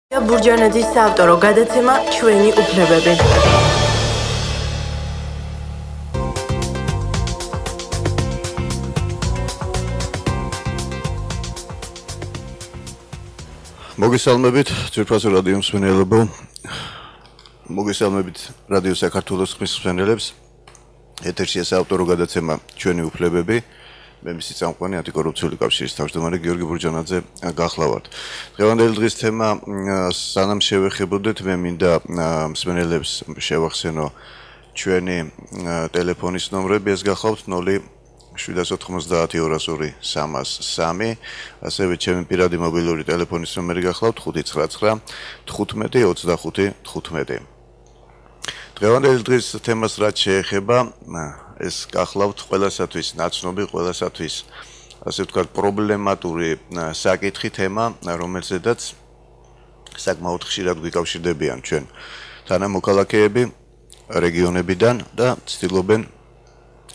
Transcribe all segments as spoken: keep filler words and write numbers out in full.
ბურჯანაძის საავტორო გადაცემა ჩვენი უფლებები. მოგესალმებით ძვირფასო რადიო მსმენელებო. მოგესალმებით რადიო საქართველოს მსმენელებს. ეთერშია საავტორო გადაცემა ჩვენი უფლებები. მე მისი წამყვანი ანტიკორუფციული კავშირის თავმჯდომარე გიორგი ბურჯანაძე გახლავართ. დღევანდელი დღის თემა სანამ შევეხებოდეთ, მე მინდა მსმენელებს შევახსენო ჩვენი ტელეფონის ნომრები, ეს გახლავთ ნული შვიდას ოთხმოცდაათი ორას ორი სამას სამი, ასევე ჩემი პირადი მობილური ტელეფონის ნომერი გახლავთ ხუთი ცხრა თხუთმეტი ოცდახუთი თხუთმეტი. დღევანდელი დღის თემას რაც შეეხება, ეს გახლავთ ყველასათვის ნაცნობი, ყველასათვის ასე ვთქვათ პრობლემატური საკითხი თემა, რომელზედაც საკმაოდ ხშირად გვიკავშირდებიან ჩვენ თანამოქალაქეები რეგიონებიდან და ცდილობენ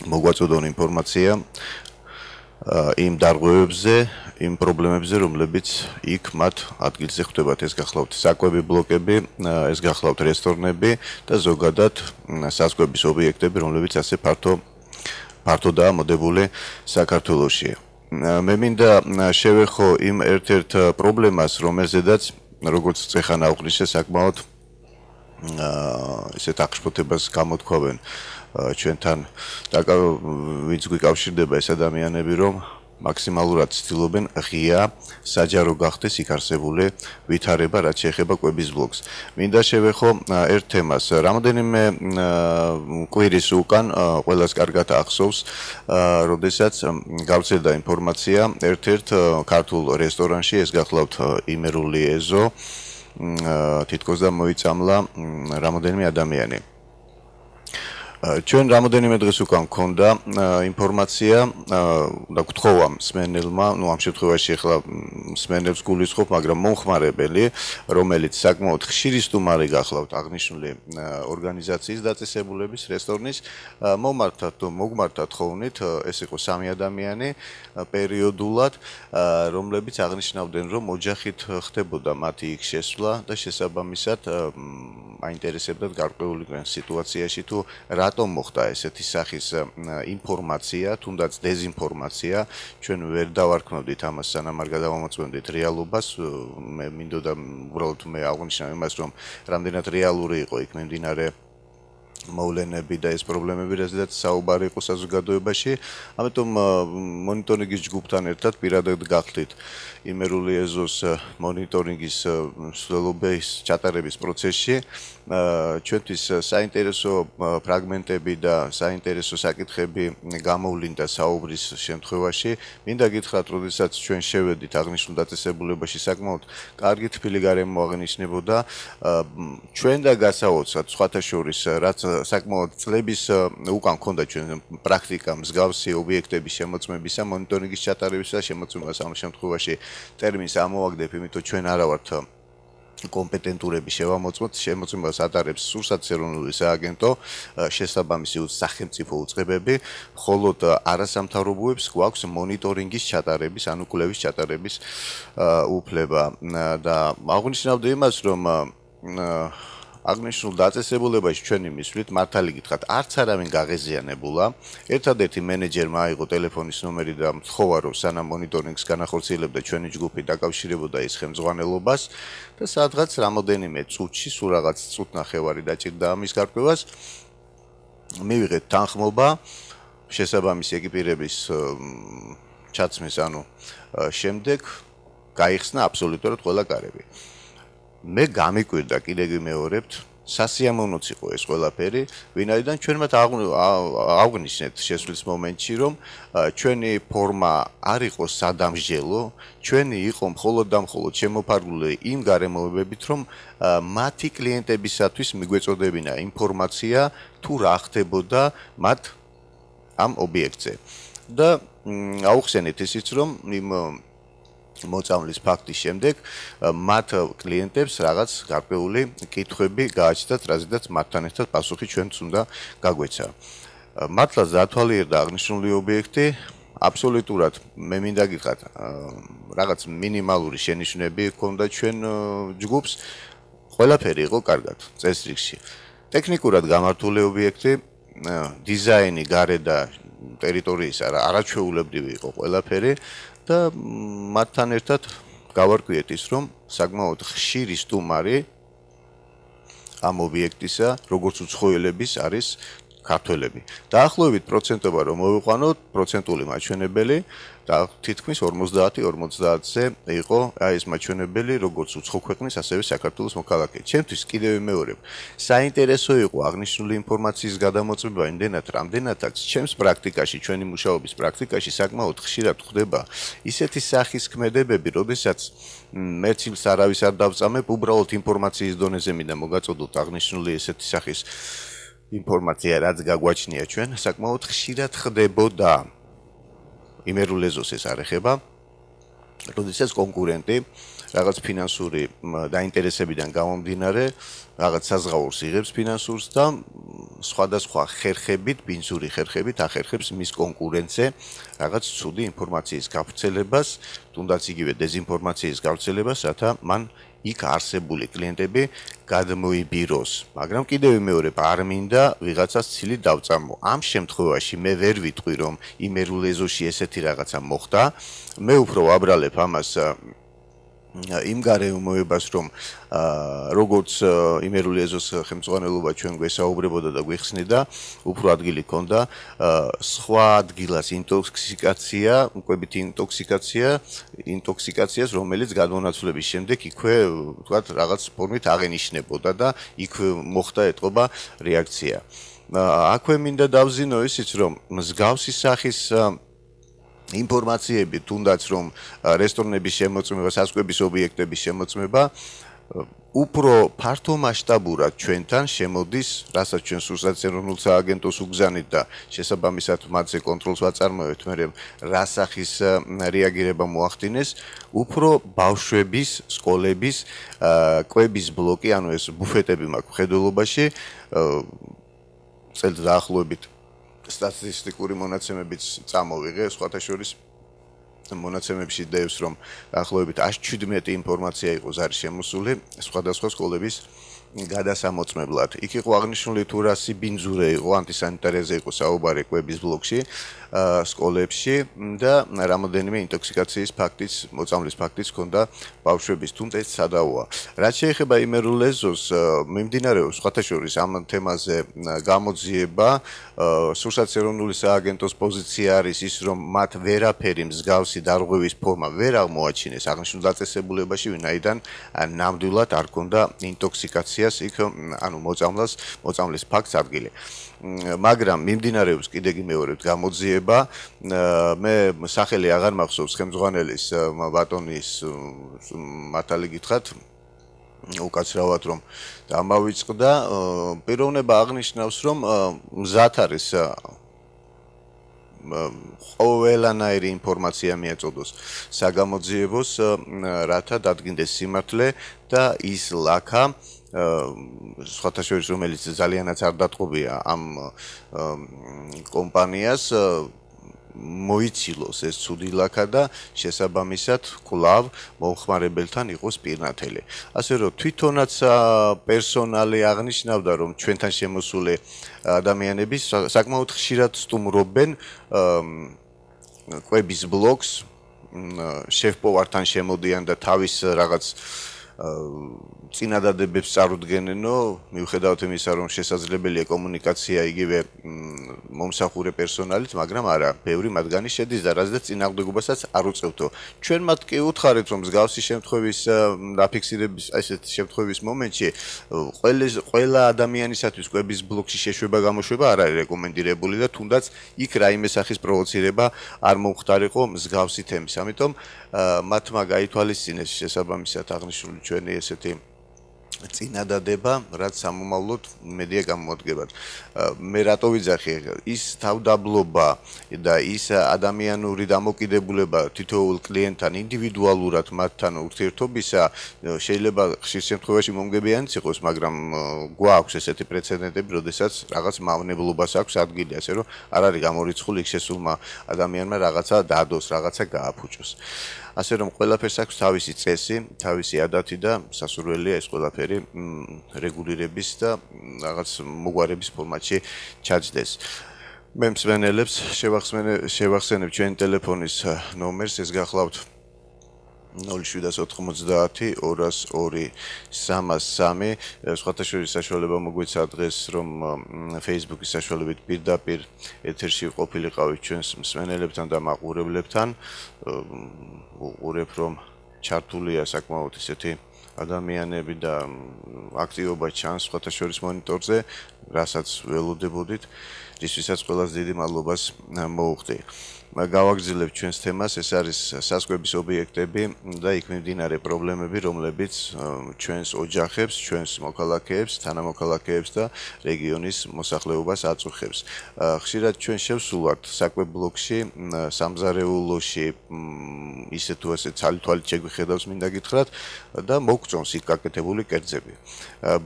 მოგვაწოდონ ინფორმაცია იმ დარღვევებზე, იმ პრობლემებზე, რომლებიც იქ მათ ადგილზე ხვდებათ. ეს გახლავთ საკვები ბლოკები, ეს გახლავთ რესტორნები და ზოგადად საზღვების ობიექტები, რომლებიც ასე ფართო ფართოდაა მოდებული საქართველოში. მე მინდა შევეხო იმ ერთ-ერთ პრობლემას, რომელზედაც როგორც წეხან აღვნიშნე საკმაოდ ესეთ აღშფოთებას გამოთქვავენ ჩვენთან ვინც გვიკავშირდება ეს ადამიანები, რომ მაქსიმალურად ცდილობენ ღია საჯარო გახდეს იქ არსებული ვითარება, რაც შეეხება კვების ბლოკს. მინდა შევეხო ერთ თემას. რამოდენიმე კვირის უკან ყველას კარგად ახსოვს, როდესაც გავრცელდა ინფორმაცია ერთ-ერთ ქართულ რესტორანში, ეს გახლავთ იმერული ეზო, თითქოს და მოიწამლა რამოდენიმე ადამიანი. ჩვენ რამოდენიმე დღეს უკან გქონდა ინფორმაცია და გთხოვა მსმენელმა, ну ამ შემთხვევაში ახლა მსმენელს გულისხმობ, მაგრამ მომხმარებელი, რომელიც საკმაოდ ხშირი სტუმარი გახლავთ აღნიშნული ორგანიზაციის დაწესებულების რესტორნის, მომართათ თუ მოგმართათ ხოვნით, ეს იყო სამი ადამიანი პერიოდულად, რომლებიც აღნიშნავდნენ, რომ ოჯახით ხდებოდა მათი იქ შესვლა და შესაბამისად აინტერესებდათ გარკვეული სიტუაციაში თუ რატომ მოხდა ესეთი სახის ინფორმაცია, თუნდაც დეზინფორმაცია, ჩვენ ვერ დავარქმევდით ამას, სანამ არ გადავამოწმებდით რეალობას. მე მინდოდა უბრალოდ მე აღვნიშნავ იმას, რომ რამდენად რეალური იყო იქ მიმდინარე მოვლენები და ეს პრობლემები, რაზეც საუბარი იყო საზოგადოებაში. ამიტომ მონიტორინგის ჯგუფთან ერთად პირადად გახდით იმერული ეზოს მონიტორინგის მსვლელობის ჩატარების პროცესში. ჩვენთვის საინტერესო ფრაგმენტები და საინტერესო საკითხები გამოვლინდა საუბრის შემთხვევაში. მინდა გითხრათ, როდესაც ჩვენ შევედით აღნიშნულ დაწესებულებაში, საკმაოდ კარგი თბილი გარემო აღინიშნებოდა. ჩვენ და გასაოცრად სხვათა შორის, რაც საკმაოდ წლების უკან ქონდა ჩვენ პრაქტიკა მსგავსი ობიექტების შემოწმებისა, მონიტორინგის ჩატარებისა და შემოწმებას ამ შემთხვევაში ტერმინს ამოვაგდებ, იმიტომ ჩვენ არა ვართ კომპეტენტურები შევამოწმოთ, შემოწმებას ატარებს სურსათის ეროვნული სააგენტო, შესაბამისი სახელმწიფო უწყებები, მხოლოდ არასამთავრობოებს გვაქვს მონიტორინგის ჩატარების, ანუ კვლევის ჩატარების უფლება და აღვნიშნავდი იმას, რომ აღნიშნულ დაწესებულებაში ჩვენი მისვლით მართალი გითხრათ, არც არავინ გაღეზიანებულა. ერთადერთი მენეჯერმა აიღო ტელეფონის ნომერი და მთხოვა, რომ სანამ მონიტორინგს განახორციელებდა ჩვენი ჯგუფი დაკავშირებოდა ის ხელმძღვანელობას და სადღაც რამოდენიმე წუთში, სულ რაღაც წუთნახევარი დაჭირდა ამის გარკვევას, მივიღეთ თანხმობა შესაბამისი ეკიპირების ჩაცმის, ანუ შემდეგ გაიხსნა აბსოლუტურად ყველა კარები. მე გამიკვირდა, კიდე გიმეორებთ, სასიამოვნოც იყო ეს ყველაფერი, ვინაიდან ჩვენ მათ აღვნიშნეთ შესვლის მომენტში, რომ ჩვენი ფორმა არ იყო სადამსჯელო, ჩვენი იყო მხოლოდ და მხოლოდ შემოფარგლული იმ გარემოებებით, რომ მათი კლიენტებისათვის მიგვეწოდებინა ინფორმაცია თუ რა ხდებოდა მათ ამ ობიექტზე. და აუხსენეთ ისიც, რომ იმ მოწამვლის ფაქტის შემდეგ მათ კლიენტებს რაღაც გარკვეული კითხვები გააჩნდათ, რაზედაც მათთან ერთად პასუხი ჩვენც უნდა გაგვეცა. მართლაც დათვალიერდა აღნიშნული ობიექტი, აბსოლუტურად მე მინდა გითხრათ, რაღაც მინიმალური შენიშვნები ჰქონდა ჩვენ ჯგუფს, ყველაფერი იყო კარგად წესრიგში. ტექნიკურად გამართული ობიექტი, დიზაინი, გარე და ტერიტორიის არაჩვეულებრივი იყო ყველაფერი და მათთან ერთად გავარკვიეთ ის, რომ საკმაოდ ხშირი სტუმარი ამ ობიექტისა, როგორც უცხოელების არის ქართველები. დაახლოებით პროცენტობა რომ მოვიყვანოთ, პროცენტული მაჩვენებელი და თითქმის ორმოცდაათი ორმოცდაათზე იყო აი ეს მაჩვენებელი, როგორც უცხო ქვეყნის, ასევე საქართველოს მოქალაქე. ჩემთვის კიდევ ვიმეორებ, საინტერესო იყო აღნიშნული ინფორმაციის გადამოწმება იმდენად, რამდენადაც ჩემს პრაქტიკაში, ჩვენი მუშაობის პრაქტიკაში საკმაოდ ხშირად ხდება ისეთი სახის ქმედებები, როდესაც მერცილს არავის არ დავწამებ, უბრალოდ ინფორმაციის დონეზე მინდა მოგაწოდოთ აღნიშნული ესეთი სახის ინფორმაცია, რაც გაგვაჩნია ჩვენ, საკმაოდ ხშირად ხდებოდა. იმერულ ეზოს ეს არ ეხება, როდესაც კონკურენტი რაღაც ფინანსური დაინტერესებიდან გამომდინარე, რაღაც საზღაურს იღებს ფინანსურს და სხვადასხვა ხერხებით, ბინძური ხერხებით ახერხებს მის კონკურენტზე რაღაც ცუდი ინფორმაციის გავრცელებას, თუნდაც იგივე დეზინფორმაციის გავრცელებას, რათა მან იქ არსებული კლიენტები გადმოიბიროს. მაგრამ კიდევ ვიმეორებ, არ მინდა ვიღაცას ცილი დავწამო. ამ შემთხვევაში მე ვერ ვიტყვი, რომ იმერულ ეზოში ესეთი რაღაცა მოხდა. მე უფრო ვაბრალებ ამას იმ გარემოებას, რომ როგორც იმერული ეზოს ხელმძღვანელობა ჩვენ გვესაუბრებოდა და გვიხსნიდა, უფრო ადგილი ჰქონდა სხვა ადგილას ინტოქსიკაცია, მკვებით ინტოქსიკაცია, ინტოქსიკაციას, რომელიც გადმონაცვლების შემდეგ იქვე, ვთქვათ, რაღაც ფორმით აღენიშნებოდა და იქვე მოხდა ეთყობა რეაქცია. აქვე მინდა დავზინო ისიც, რომ მსგავსი სახის ინფორმაციები, თუნდაც რომ რესტორნების შემოწმება, სასტუმროების ობიექტების შემოწმება უფრო ფართო მასშტაბურად ჩვენთან შემოდის, რასაც ჩვენ სურსათ ეროვნულ სააგენტოს უგზავნით და შესაბამისად მათზე კონტროლს ვაწარმოებთ, მე რა სახის რეაგირება მოახდინეს, უფრო ბავშვების, სკოლების, კვების ბლოკი, ანუ ეს ბუფეტები მაქვს ხედველობაში, წელს დაახლოებით სტატისტიკური მონაცემებიც წამოვიღე, სხვათა შორის მონაცემებში დევს, რომ დაახლოებით ათს შვიდმეტი ინფორმაცია იყო ზარი შემოსული სხვადასხვა სკოლების გადასამოწმებლად. იქ იყო აღნიშნული თუ რა სიბინძურე იყო, ანტისანიტარიაზე იყო საუბარი კვების ბლოკში, სკოლებში და რამოდენიმე ინტოქსიკაციის ფაქტიც, მოწამვლის ფაქტიც ჰქონდა ბავშვების, თუმცა ეს სადავოა. რაც შეეხება იმერულ ეზოს, მიმდინარეობს სხვათა შორის ამ თემაზე გამოძიება, სურსათ ეროვნული სააგენტოს პოზიცია არის ის, რომ მათ ვერაფერი მსგავსი დარღვევის ფორმა ვერ აღმოაჩინეს აღნიშნულ დაწესებულებაში, ვინაიდან ნამდვილად არ ჰქონდა ინტოქსიკაციას იქ, ანუ მოწამვლას, მოწამვლის ფაქტს ადგილი. მაგრამ მიმდინარეობს კიდე გიმეორებთ გამოძიება, მე სახელი აღარ მახსოვს ხელმძღვანელის ბატონის მართალი გითხრათ, უკაცრავად რომ დამავიწყდა, პიროვნება აღნიშნავს, რომ მზად არის ყველანაირი ინფორმაცია მიაწოდოს საგამოძიებოს, რათა დადგინდეს სიმართლე და ის ლაქა სხვათა შორის, რომელიც ძალიანაც არ დატყობია ამ კომპანიას, მოიცილოს ეს ცუდი ლაქა და შესაბამისად კვლავ მომხმარებელთან იყოს პირნათელი. ასე რომ თვითონაც პერსონალი აღნიშნავდა, რომ ჩვენთან შემოსული ადამიანები საკმაოდ ხშირად სტუმრობენ კვების ბლოკს, შეფ-повართან შემოდიან და თავის რაღაც წინადადებებს წარუდგენენო, მიუხედავად იმისა, რომ შესაძლებელია კომუნიკაცია იგივე მომსახურე პერსონალით, მაგრამ არა, ბევრი მათგანი შედის და რაზეც წინააღმდეგობასაც არ უწევთო. ჩვენ მათ კი უთხარით, რომ მსგავსი შემთხვევის დაფიქსირების, ესეთ შემთხვევის მომენტში ყველა ადამიანისათვის კვების ბლოკში შეშვება გამოშვება არ არის რეკომენდირებული და თუნდაც იქ რაიმე სახის პროვოცირება არ მომხდარიყო მსგავსი თემის. ამიტომ მათმა გაითვალისწინეს შესაბამისად აღნიშნული ჩვენი ესეთი წინადადება, რაც სამომავლოდ მედია გამოდგებად. მე რატო ვიძახი ის თავდაბლობა და ის ადამიანური დამოკიდებულება თითოეულ კლიენტთან ინდივიდუალურად მათთან ურთიერთობისა შეიძლება ხშირ შემთხვევაში მომგებიანიც იყოს, მაგრამ გვაქვს ესეთი პრეცედენტები, როდესაც რაღაც მავნებლობას აქვს ადგილი, ასე რომ არ არის გამორიცხული იქ შესულმა ადამიანმა რაღაცა დადოს, რაღაცა გააფუჭოს. ასე რომ ყველაფერს აქვს თავისი წესი, თავისი ადათი და სასურველია ეს ყველაფერი რეგულირების და რაღაც მოგვარების ფორმატში ჩაჯდეს. მე მსმენელებს შევახსენებ ჩვენი ტელეფონის ნომერს, ეს გახლავთ ნული შვიდას ოთხმოცდაათი ორას ორი სამას სამი. სხვათა შორის საშუალება მოგვეცა დღეს, რომ Facebook-ის საშუალებით პირდაპირ ეთერში ყოფილიყავით ჩვენს მსმენელებთან და მაყურებლებთან. უყურებ, რომ ჩართულია საკმაოდ ისეთი ადამიანები და აქტივობა ჩანს სხვათა შორის მონიტორზე, რასაც ველოდებოდით, რისთვისაც ყველას დიდი მადლობას მოუხდი. გავაგრძელებთ ჩვენს თემას, ეს არის საზღვრების ობიექტები და იქ მიმდინარე პრობლემები, რომლებიც ჩვენს ოჯახებს, ჩვენს მოქალაქეებს, თანამოქალაქეებს და რეგიონის მოსახლეობას აწუხებს. ხშირად ჩვენ შევსულვართ საკვებ ბლოკში, სამზარეულოში, ისე თუ ასე ცალ-თვალით შეგვიხედავს მინდა გითხრათ და მოგწონს იქ გაკეთებული კერძები.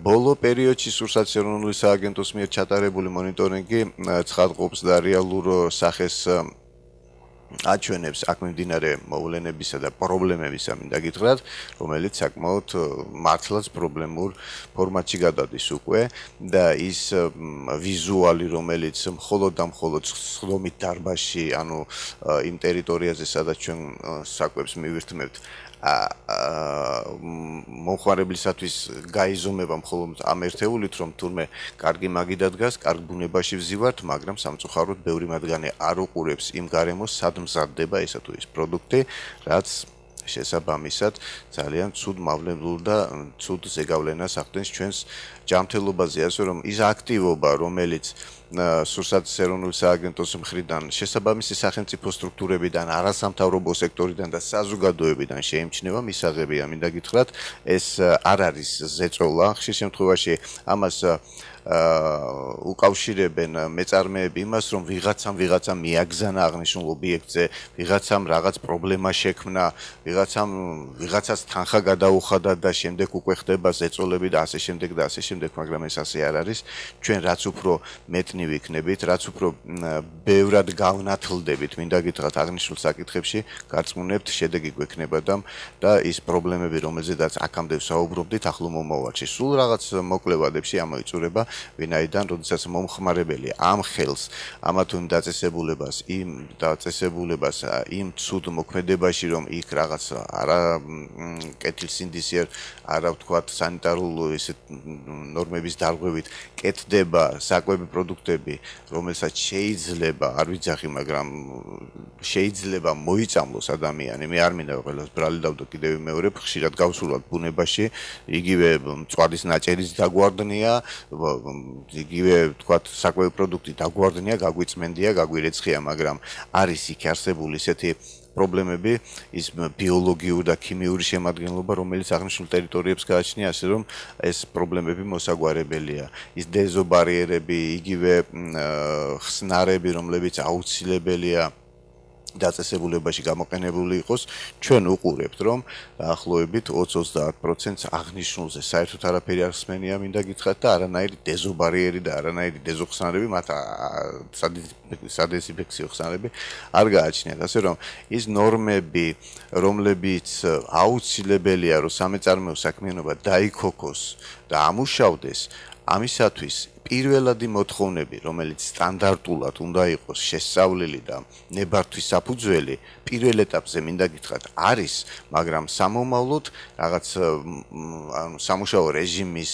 ბოლო პერიოდში სურსათის ეროვნული სააგენტოს მიერ ჩატარებული მონიტორინგი ცხადყოფს და რეალურ სახეს აჩვენებს აქ მიმდინარე მოვლენებისა და პრობლემებისა მინდა გითხრათ, რომელიც საკმაოდ მართლაც პრობლემურ ფორმატში გადადის უკვე და ის ვიზუალი, რომელიც მხოლოდ და მხოლოდ სხდომით დარბაზში, ანუ იმ ტერიტორიაზე, სადაც ჩვენ საკვებს მივირთმევთ, მომხმარებლისათვის გაიზომება მხოლოდ ამ ერთეულით, რომ თურმე კარგი მაგიდა დგას, კარგ ბუნებაში ვზივართ, მაგრამ სამწუხაროდ ბევრი მათგანი არ უყურებს იმ გარემოს, სად მზადდება ესა თუ ის პროდუქტი, რაც შესაბამისად ძალიან ცუდ მავნებლურ და ცუდ ზეგავლენას ახდენს ჩვენს ჯანმრთელობაზე, ასე რომ ის აქტივობა, რომელიც სურსათის ეროვნული სააგენტოს მხრიდან, შესაბამისი სახელმწიფო სტრუქტურებიდან, არასამთავრობო სექტორიდან და საზოგადოებიდან შეიმჩნევა, მისაღებია, მინდა გითხრათ, ეს არ არის ზეწოლა, ხშირ შემთხვევაში ამას უკავშირებენ მეწარმეები იმას, რომ ვიღაცამ ვიღაცა მიაგზანა აღნიშნულ ობიექტზე, ვიღაცამ რაღაც პრობლემა შექმნა, ვიღაცამ ვიღაცას თანხა გადაუხადა და შემდეგ უკვე ხდება ზეწოლები და ასე შემდეგ და ასე შემდეგ, მაგრამ ეს ასე არ არის. ჩვენ რაც უფრო მეტნი ვიქნებით, რაც უფრო ბევრად გავნათლდებით, მინდა გითხრათ აღნიშნულ საკითხებში, გარწმუნებთ, შედეგი გვექნება და ის პრობლემები, რომელზედაც აქამდე ვსაუბრობდით, ახლო მომავალში სულ რაღაც მოკლევადებში ამოიწურება, ვინაიდან როდესაც მომხმარებელი ამ ხელს, ამა თუ იმ დაწესებულებას, იმ დაწესებულებას, იმ ცუდ მოქმედებაში, რომ იქ რაღაც არა კეთილსინდისიერ, არა ვთქვათ სანიტარულ ისეთ ნორმების დარღვევით კეთდება საკვები პროდუქტები, რომელსაც შეიძლება, არ ვიძახი, მაგრამ შეიძლება მოიწამლოს ადამიანი. მე არ მინდა ყველას ბრალი დავდო კიდევ მეორე, ხშირად გავსულვათ ბუნებაში, იგივე მწვადის ნაჭერიც დაგვარდნია, იგივე ვთქვათ საკვები პროდუქტი დაგვარდნია, გაგვიწმენდია, გაგვირეცხია, მაგრამ არის იქ არსებული ისეთი პრობლემები, ის ბიოლოგიური და ქიმიური შემადგენლობა, რომელიც აღნიშნულ ტერიტორიებს გააჩნია, ასე რომ ეს პრობლემები მოსაგვარებელია. ის დეზობარიერები, იგივე ხსნარები, რომლებიც აუცილებელია დაწესებულებაში გამოყენებული იყოს, ჩვენ უყურებთ, რომ დაახლოებით ოცი ოცდაათ პროცენტს აღნიშნულზე საერთოდ არაფერი არ ხსმენია, მინდა გითხრათ და არანაირი დეზობარიერი და არანაირი დეზოხსნარები, მათ სადეზინფექციო ხსნარები არ გააჩნიათ, ასე რომ ის ნორმები, რომლებიც აუცილებელია, რომ სამეწარმეო საქმიანობა დაიქოქოს და ამუშავდეს, ამისათვის პირველადი მოთხოვნები, რომელიც სტანდარტულად უნდა იყოს შესწავლილი და ნებართვის საფუძველი, პირველ ეტაპზე მინდა გითხრათ, არის, მაგრამ სამომავლოდ რაღაც ანუ სამუშაო რეჟიმის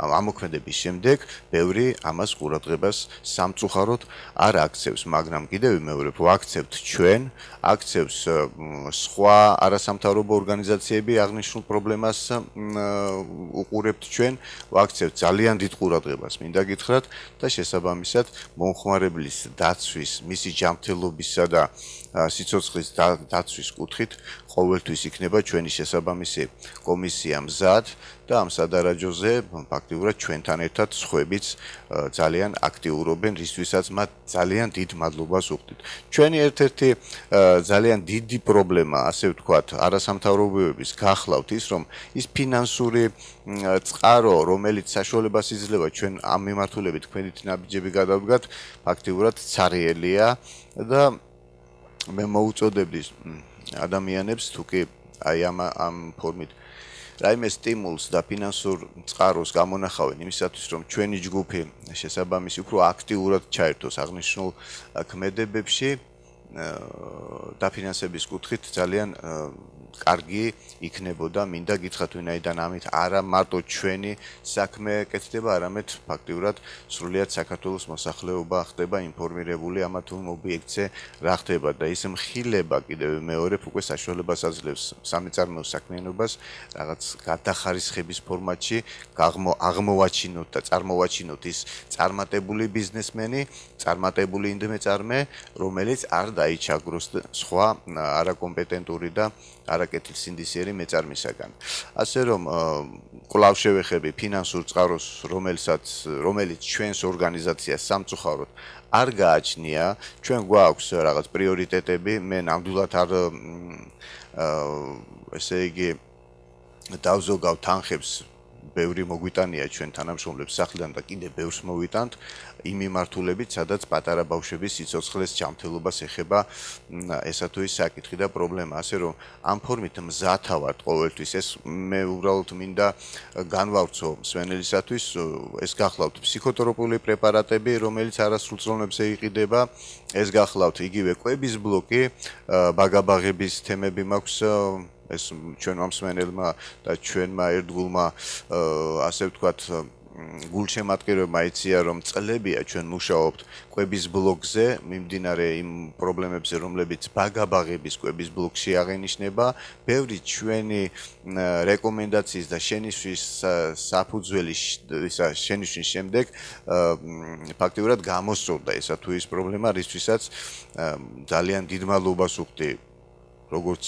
ამოქმედების შემდეგ ბევრი ამას ყურადღებას სამწუხაროდ არ აქცევს, მაგრამ კიდევ მეორე ვაქცევთ ჩვენ, აქცევს სხვა არასამთავრობო ორგანიზაციები აღნიშნულ პრობლემას უყურებთ ჩვენ, ვაქცევთ ძალიან დიდ ყურადღებას, მინდა გითხრათ და შესაბამისად მომხმარებლის დაცვის, მისი ჯანმრთელობისა და სიცოცხლის დაცვის კუთხით ყოველთვის იქნება ჩვენი შესაბამისი კომისია მზად და ამ სადარაჯოზე ფაქტიურად ჩვენთან ერთად სხვებიც ძალიან აქტიურობენ, რისთვისაც მათ ძალიან დიდ მადლობას უხდით. ჩვენი ერთ-ერთი ძალიან დიდი პრობლემა, ასე ვთქვათ, არასამთავრობოების გახლავთ ის, რომ ის ფინანსური წყარო, რომელიც საშუალებას იძლევა ჩვენ ამ მიმართულებით თქვენით ნაბიჯები გადავდგათ, ფაქტიურად ცარიელია და მე მოუწოდებდი ადამიანებს თუკი აი ამ ამ ფორმით რაიმე სტიმულს და ფინანსურ წყაროს გამონახავენ იმისათვის რომ ჩვენი ჯგუფი შესაბამისი უფრო აქტიურად ჩაერთოს აღნიშნულ ქმედებებში დაფინანსების კუთხით ძალიან კარგი იქნებოდა მინდა გითხრათ ვინაიდან ამით არა მარტო ჩვენი საქმე კეთდება არამედ ფაქტიურად სრულიად საქართველოს მოსახლეობა ხდება ინფორმირებული ამა თუ იმ ობიექტზე რა ხდება და ის მხილება კიდევ მეორე უკვე საშუალებას აძლევს სამეწარმეო საქმიანობას რაღაც გადახარისხების ფორმატში აღმოვაჩინოთ და წარმოვაჩინოთ ის წარმატებული ბიზნესმენი წარმატებული ინდმეწარმე რომელიც არ დაიჩაგროს სხვა არაკომპეტენტური და არაკეთილსინდისიერი მეწარმისაგან. ასე რომ კვლავ შევეხები ფინანსურ წყაროს, რომელსაც რომელიც ჩვენს ორგანიზაციას სამწუხაროდ არ გააჩნია, ჩვენ გვაქვს რაღაც პრიორიტეტები, მე ნამდვილად არ ესე იგი დავზოგავ თანხებს ბევრი მოგვიტანია ჩვენ თანამშრომლებს სახლიდან და კიდე ბევრს მოვიტანთ იმ მიმართულებით, სადაც პატარა ბავშვების სიცოცხლის ჯანმრთელობას ეხება ესა თუ ის საკითხი და პრობლემა, ასე რომ ამ ფორმით მზათავართ ყოველთვის ეს მე უბრალოდ მინდა განვავრცო მსმენელისათვის ეს გახლავთ ფსიქოტროპული პრეპარატები, რომელიც არასრულწლოვნებზე იყიდება, ეს გახლავთ იგივე კვების ბლოკი, ბაგაბაღების თემები მაქვს ეს ჩვენმა მსმენელმა და ჩვენმა ერთგულმა ასე ვთქვათ გულშემატკივრებმა იცია რომ წლებია ჩვენ მუშაობთ კვების ბლოკზე მიმდინარე იმ პრობლემებზე რომლებიც ბაგაბაღების კვების ბლოკში აღენიშნება ბევრი ჩვენი რეკომენდაციის და შენიშვნის საფუძველი ისა შენიშვნის შემდეგ ფაქტიურად გამოსწორდა ესა თუ ის პრობლემა რისთვისაც ძალიან დიდ მადლობას ვუხდი როგორც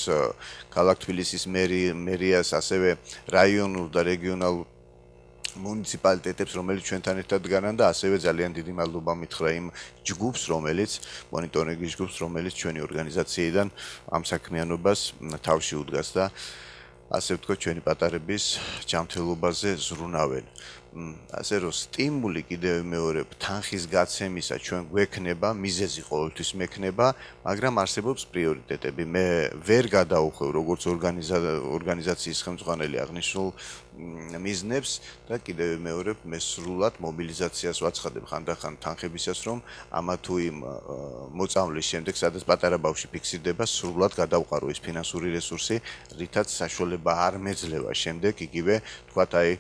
ქალაქ თბილისის მერიას, ასევე რაიონულ და რეგიონალურ მუნიციპალიტეტებს, რომელიც ჩვენთან ერთად დგანან და ასევე ძალიან დიდი მადლობა მითხრა იმ ჯგუფს, რომელიც მონიტორინგის ჯგუფს, რომელიც ჩვენი ორგანიზაციიდან ამ საქმიანობას თავში უდგას და ასე ვთქვათ, ჩვენი პატარების ჯანმრთელობაზე ზრუნავენ. ასე რომ სტიმული კიდევ მეორე თანხის გაცემისა ჩვენ გვექნება, მიზეზი ყოველთვის მექნება, მაგრამ არსებობს პრიორიტეტები. მე ვერ გადაუხვევ როგორც ორგანიზაციის ხელმძღვანელი აღნიშნულ მიზნებს და კიდევ მეორე მე სრულად მობილიზაციას ვაცხადებ ხანდახან თანხებისას, რომ ამა თუ იმ მოწამვლის შემდეგ, სადაც პატარა ბავშვი ფიქსირდება, სრულად გადავყარო ის ფინანსური რესურსი, რითაც საშუალება არ მეძლევა შემდეგ იგივე თქვათ აი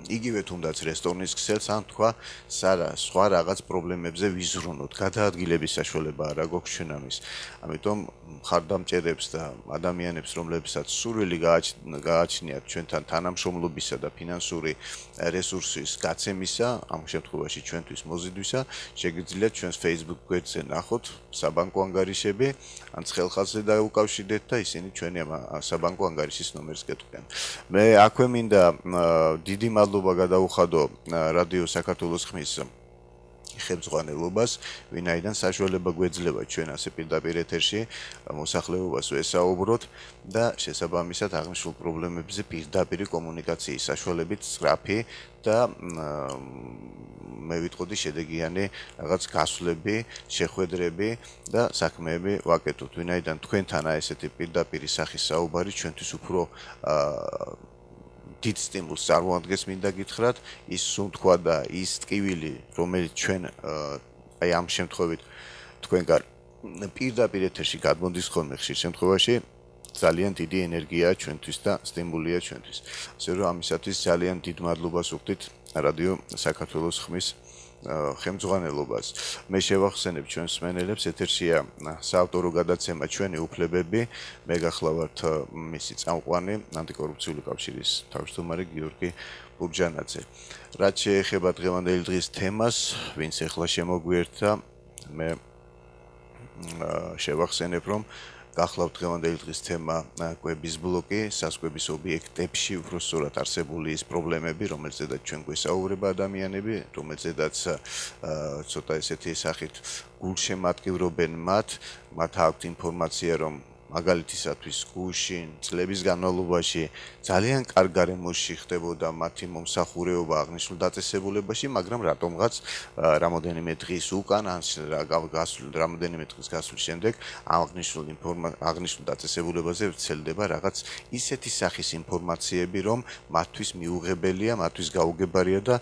იგივე თუნდაც რესტორნის ქსელს ან თქვა სხვა რაღაც პრობლემებზე ვიზრუნოთ. გადაადგილების საშუალება არ აქვს ჩვენ ამის. ამიტომ მხარდამჭერებს და ადამიანებს, რომლებსაც სურვილი გააჩნიათ ჩვენთან თანამშრომლობისა და ფინანსური რესურსის გაცემისა, ამ შემთხვევაში ჩვენთვის მოზიდვისა, შეგიძლიათ ჩვენს Facebook გვერდზე ნახოთ საბანკო ანგარიშები, ან ცხელხაზზე დაუკავშირდეთ და ისინი ჩვენი საბანკო ანგარიშის ნომერს გეტყვიან. მე აქვე მინდა დიდი მადლობა გადაუხადო რადიო საქართველოს ხმის ხელმძღვანელობას, ვინაიდან საშუალება გვეძლევა ჩვენ ასე პირდაპირ ეთერში მოსახლეობას ვესაუბროთ და შესაბამისად აღნიშნულ პრობლემებზე პირდაპირ კომუნიკაციის საშუალებით სწრაფი და მე ვიტყოდი შედეგიანი რაღაც გასვლები, შეხვედრები და საქმეები ვაკეთოთ, ვინაიდან თქვენთან ესეთი პირდაპირ სახის საუბარი ჩვენთვის უფრო დიდ სტიმულს წარმოადგენს მინდა გითხრათ ის სუნთქვა და ის ტკივილი რომელიც ჩვენ აი ამ შემთხვევით თქვენგან პირდაპირ ეთერში გადმოდის ხოლმე ხშირ შემთხვევაში ძალიან დიდი ენერგიაა ჩვენთვის და სტიმულია ჩვენთვის ასე რომ ამისათვის ძალიან დიდ მადლობას ვუხდით რადიო საქართველოს ხმის ხელმძღვანელობას. მე შევახსენებ ჩვენს მსმენელებს, ეთერშია საავტორო გადაცემა ჩვენი უფლებები. მე გახლავართ მისი წამყვანი ანტიკორუფციული კავშირის თავმჯდომარე გიორგი ბურჯანაძე. რაც შეეხება დღევანდელი დღის თემას, ვინც ახლა შემოგვიერთდა, მე შევახსენებ, რომ გახლავთ დღევანდელი დღის თემა კვების ბლოკი, სასკვების ობიექტებში უბრალოდ არსებული ის პრობლემები, რომელზედაც ჩვენ გვესაუბრება ადამიანები, რომელზედაც ცოტა ესეთი სახით გულშემატკივრობენ მათ, მათ აქვთ ინფორმაცია, რომ მაგალითისათვის გუშინ წლების განმავლობაში ძალიან კარგ გარემოში ხდებოდა მათი მომსახურება აღნიშნულ დაწესებულებაში, მაგრამ რატომღაც რამოდენიმე დღის უკან ან გასულ რამოდენიმე დღის გასვლის შემდეგ აღნიშნულ აღნიშნულ დაწესებულებაზე ვრცელდება რაღაც ისეთი სახის ინფორმაციები, რომ მათთვის მიუღებელია, მათთვის გაუგებარია და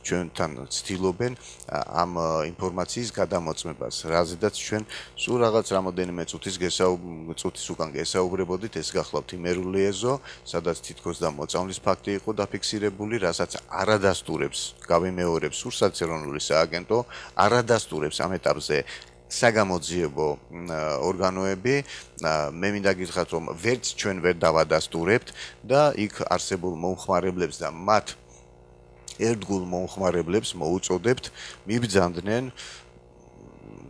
ჩვენთან ცდილობენ ამ ინფორმაციის გადამოწმებას, რაზედაც ჩვენ სულ რაღაც რამოდენიმე წუთის გესაუბრებთ ის უკან გესაუბრებოდით, ეს გახლავთ იმერული ეზო, სადაც თითქოს და მოწამვლის ფაქტი იყო დაფიქსირებული, რასაც არადასტურებს, გავიმეორებს სურსათის ეროვნული სააგენტო, არადასტურებს ამ ეტაპზე საგამოძიებო ორგანოები, მე მინდა გითხრათ, რომ ვერც ჩვენ ვერ დავადასტურებთ და იქ არსებულ მომხმარებლებს და მათ ერთგულ მომხმარებლებს მოუწოდებთ მიბრძანდნენ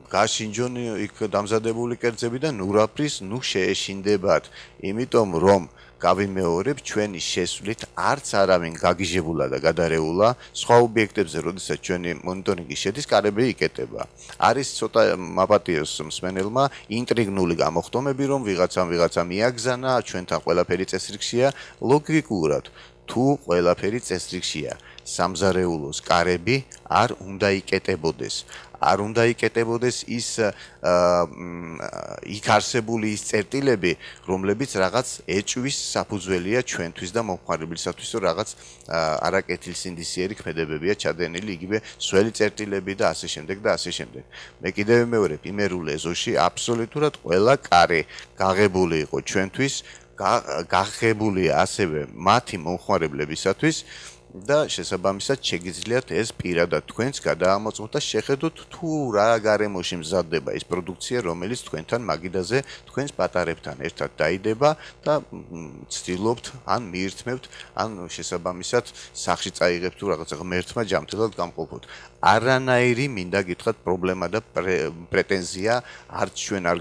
გაშინჯონ იქ დამზადებული კერძები და ნურაფრის ნუ შეეშინდებათ, იმიტომ რომ გავიმეორებ ჩვენი შესვლით არც არავინ გაგიჟებულა და გადარეულა სხვა ობიექტებზე, როდესაც ჩვენი მონიტორინგი შედის, კარები იკეტება. არის ცოტა მაპატიოს მსმენელმა ინტრიგნული გამოხდომები, რომ ვიღაცამ ვიღაცა მიაგზანა, ჩვენთან ყველაფერი წესრიგშია, ლოგიკურად თუ ყველაფერი წესრიგშია, სამზარეულოს კარები არ უნდა იკეტებოდეს. არ უნდა იკეტებოდეს ის იქ არსებული ის წერტილები, რომლებიც რაღაც ეჭვის საფუძველია ჩვენთვის და მომხმარებლისათვის, რომ რაღაც არაკეთილსინდისიერი ქმედებებია ჩადენილი, იგივე სველი წერტილები და ასე შემდეგ და ასე შემდეგ. მე კიდევ ვიმეორებ, იმერულ ეზოში აბსოლუტურად ყველა კარი გაღებული იყო ჩვენთვის, გაღებულია ასევე მათი მომხმარებლებისათვის. და შესაბამისად შეგიძლიათ ეს პირადად თქვენს გადაამოწმოთ და შეხედოთ თუ რა გარემოში მზადდება ის პროდუქცია, რომელიც თქვენთან მაგიდაზე თქვენს პატარებთან ერთად დაიდება და ცდილობთ ან მიირთმევთ, ან შესაბამისად სახში წაიღებთ თუ რაღაცა ღმერთმა ჯამთელად გამყოფოთ. არანაირი მინდა გითხრათ პრობლემა და პრეტენზია არც ჩვენ არ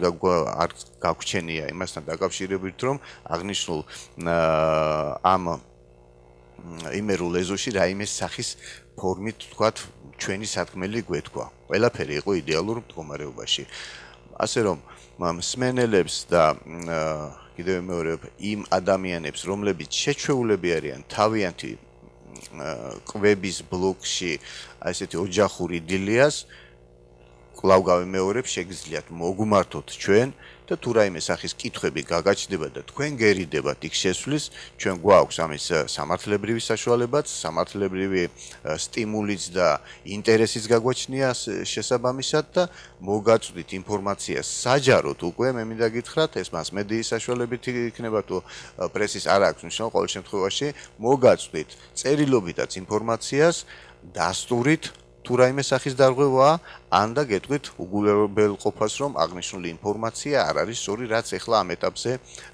გაგვჩენია იმასთან დაკავშირებით, რომ აღნიშნულ ამ იმერულ ეზოში რაიმე სახის ფორმით თქვათ ჩვენი სათქმელი გვეთქვა. ყველაფერი იყო იდეალურ მდგომარეობაში. ასე რომ მსმენელებს და კიდევ ვიმეორებ იმ ადამიანებს, რომლებიც შეჩვეულები არიან თავიანთი კვების ბლოკში ესეთი ოჯახური დილიას, კვლავ გავიმეორებ, შეგიძლიათ მოგმართოთ ჩვენ და თუ რაიმე სახის კითხვები გაგაჩნდება და თქვენ გერიდებათ იქ შესვლის, ჩვენ გვაქვს ამის სამართლებრივი საშუალებაც, სამართლებრივი სტიმულიც და ინტერესიც გაგვაჩნია შესაბამისად და მოგაწვდით ინფორმაციას საჯაროდ უკვე, მე მინდა გითხრათ, ეს მას მედიის საშუალებით იქნება თუ პრესის არ აქვს მნიშვნელობა, ყოველ შემთხვევაში მოგაწვდით წერილობითაც ინფორმაციას, დასტურით თუ რაიმე სახის დარღვევაა, ან და გეტყვით უგულებელყოფას, რომ აღნიშნული ინფორმაცია არ არის სწორი, რაც ეხლა ამ ეტაპზე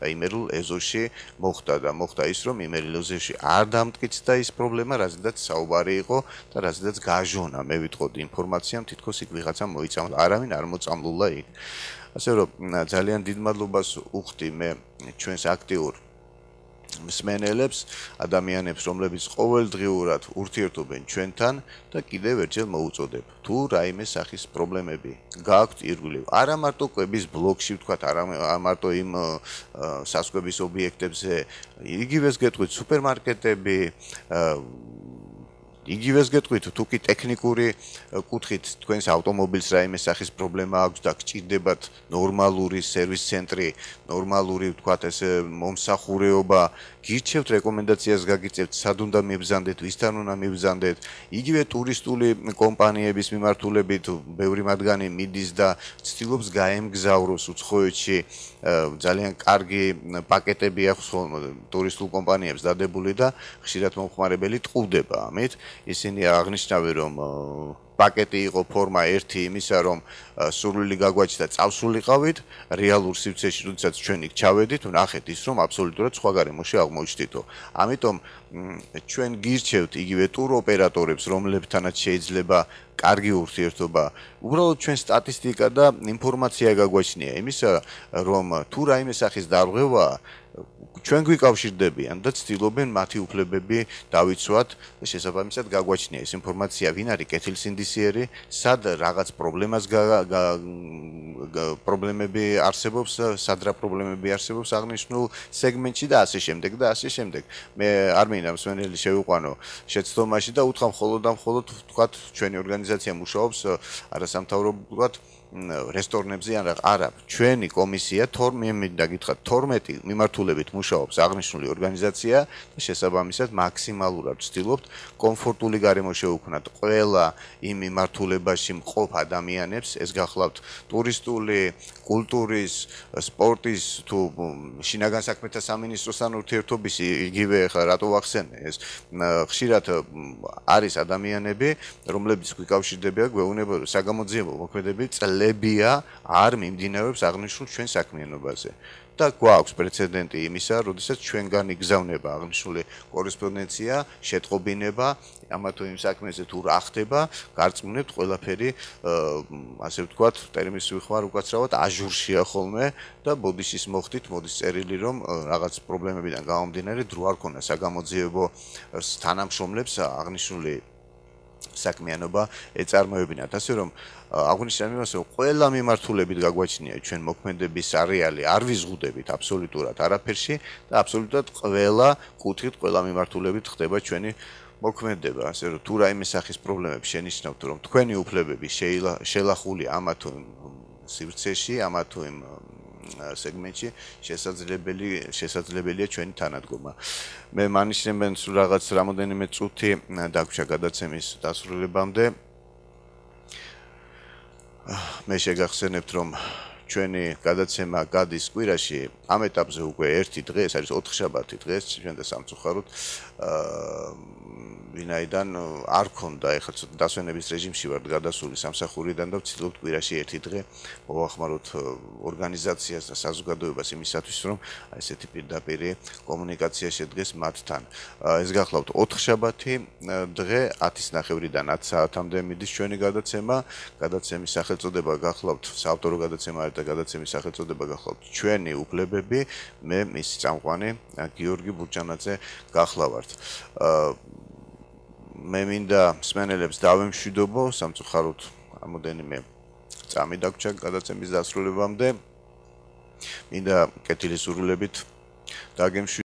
იმერულ ეზოში მოხდა და მოხდა ის, რომ იმერულ ეზოში არ დამტკიცდა ის პრობლემა, რაზედაც საუბარი იყო და რაზედაც გაჟონა, მე ვიტყოდი ინფორმაციამ, თითქოს იქ ვიღაცა მოიწამლა, არავინ არ მოწამლულა იქ. ასე რომ ძალიან დიდ მადლობას უხდი მე ჩვენს აქტიურ მსმენელებს, ადამიანებს, რომლებიც ყოველდღიურად ურთიერთობენ ჩვენთან და კიდევ ერთხელ მოუწოდებ, თუ რაიმე სახის პრობლემები გააქვთ ირგვლივ, არა მარტო კვების ბლოკში ვთქვათ, არა მარტო იმ სასკვების ობიექტებზე, იგივეს გეტყვით სუპერმარკეტები, იგივეს გეტყვით თუ კი ტექნიკური კუთხით თქვენს ავტომობილს რაიმე სახის პრობლემა აქვს და გჭირდებათ ნორმალური სერვის ცენტრი, ნორმალური ვთქვათ ეს მომსახურება, გირჩევთ რეკომენდაციას გაგიწევთ, სად უნდა მიბრძანდეთ, ვისთან უნდა მიბრძანდეთ, იგივე ტურისტული კომპანიების მიმართულებით ბევრი მათგანი მიდის და ცდილობს გაემგზავროს უცხოეთში, ძალიან კარგი პაკეტები აქვს ტურისტულ კომპანიებს დადებული და ხშირად მომხმარებელი ტყუდება ამით. ისინი აღნიშნავენ, რომ პაკეტი იყო ფორმა ერთი იმისა, რომ სურვილი გაგვაჩნდა წავსულიყავით, რეალურ სივრცეში, როდესაც ჩვენ იქ ჩავედით, ვნახეთ ის, რომ აბსოლუტურად სხვა გარემოში აღმოჩნდითო. ამიტომ ჩვენ გირჩევთ იგივე ტურ ოპერატორებს, რომლებთანაც შეიძლება კარგი ურთიერთობა. უბრალოდ ჩვენ სტატისტიკა და ინფორმაცია გაგვაჩნია იმისა, რომ თუ რაიმე სახის დარღვევაა, ჩვენ გვიკავშირდებიან და ცდილობენ მათი უფლებები დავიცვათ და შესაბამისად გაგვაჩნია ეს ინფორმაცია, ვინ არის კეთილსინდისიერი, სად რაღაც პრობლემას პრობლემები არსებობს, სად რა პრობლემები არსებობს აღნიშნულ სეგმენტში და ასე შემდეგ და ასე შემდეგ. მე არ მინდა მსმენელი შევიყვანო შეცდომაში და უთხრა მხოლოდ და მხოლოდ ვთქვათ ჩვენი ორგანიზაცია მუშაობს არასამთავრობოდ რესტორნებზე ან არა, ჩვენი კომისია მინდა გითხრათ თორმეტი მიმართულებით მუშაობს აღნიშნული ორგანიზაცია და შესაბამისად მაქსიმალურად ვცდილობთ კომფორტული გარემო შევუქმნათ ყველა იმ მიმართულებაში მყოფ ადამიანებს, ეს გახლავთ ტურისტული, კულტურის, სპორტის თუ შინაგან საქმეთა სამინისტროსთან ურთიერთობის, იგივე ხა რატო ვახსენე ეს ხშირად არის ადამიანები, რომლებიც გვიკავშირდებიან, გვეუბნება საგამოძიებო მოქმედები ლებია არ მიმდინარეობს აღნიშნულ ჩვენ საქმიანობაზე. და გვაქვს პრეცედენტი იმისა, როდესაც ჩვენგან იგზავნება აღნიშნული კორესპონდენცია, შეტყობინება, ამა თუ იმ საქმეზე თუ რა ხდება, გარწმუნებთ ყველაფერი, ასე ვთქვათ, ტერმინს ვიხმარ უკაცრავად აჟურშია ხოლმე და ბოდიშის მოხდით, მოდის წერილი, რომ რაღაც პრობლემებიდან გამომდინარე დრო არ ქონა საგამოძიებო თანამშრომლებს აღნიშნული საქმიანობა ეწარმოებინათ, ასე რომ აღვნიშნე იმას, რომ ყველა მიმართულებით გაგვაჩნია ჩვენ მოქმედების არეალი, არ ვიზღუდებით აბსოლუტურად არაფერში და აბსოლუტურად ყველა კუთხით, ყველა მიმართულებით ხდება ჩვენი მოქმედება, ასე რომ თუ რაიმე სახის პრობლემები შენიშნავთ, რომ თქვენი უფლებები შელახული ამა თუ იმ სივრცეში, ამა თუ იმ სეგმენტში შესაძლებელი შესაძლებელია ჩვენი თანადგომა. მე მანიშნებენ სულ რაღაც რამოდენიმე წუთი დაგვრჩა გადაცემის დასრულებამდე. მე შეგახსენებთ, რომ ჩვენი გადაცემა გადის კვირაში ამ ეტაპზე უკვე ერთი დღე, ეს არის ოთხშაბათი დღეს, ჩვენ და სამწუხაროდ ვინაიდან არ ქონდა ეხლა ცოტა დასვენების რეჟიმში ვართ გადასული სამსახურიდან და ვცდილობთ კვირაში ერთი დღე მოვახმაროთ ორგანიზაციას და საზოგადოებას იმისათვის, რომ ესეთი პირდაპირ კომუნიკაცია შედგეს მათთან. ეს გახლავთ ოთხშაბათი დღე ათის ნახევრიდან ათ საათამდე მიდის ჩვენი გადაცემა. გადაცემის სახელწოდება გახლავთ საავტორო გადაცემა არის და გადაცემის სახელწოდება გახლავთ ჩვენი უფლებები. მე მისი წამყვანი გიორგი ბურჭანაძე გახლავართ. მე მინდა მსმენელებს დავემშვიდობო, სამწუხაროდ რამოდენიმე წამი დაგვრჩა გადაცემის დასრულებამდე. მინდა კეთილი სურვილებით დაგემშვიდობო.